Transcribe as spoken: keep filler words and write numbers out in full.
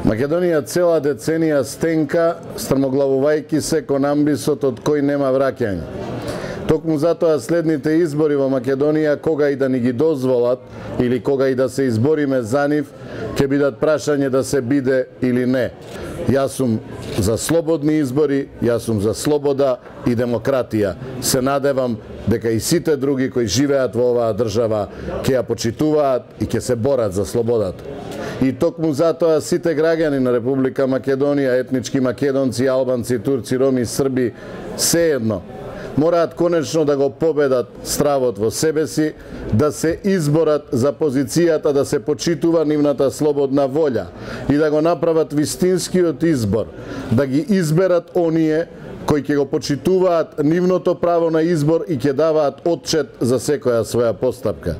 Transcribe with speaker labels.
Speaker 1: Македонија цела деценија стенка, стрмоглавувајќи се кон амбисот од кој нема враќање. Токму затоа следните избори во Македонија, кога и да ни ги дозволат или кога и да се избориме за нив, ќе бидат прашање да се биде или не. Јас сум за слободни избори, јас сум за слобода и демократија. Се надевам дека и сите други кои живеат во оваа држава ќе ја почитуваат и ќе се борат за слободата. И токму затоа сите граѓани на Република Македонија, етнички македонци, албанци, турци, роми, срби, сеедно, мораат конечно да го победат стравот во себе си, да се изборат за позицијата да се почитува нивната слободна волја и да го направат вистинскиот избор, да ги изберат оние кои ќе го почитуваат нивното право на избор и ќе даваат отчет за секоја своја постапка.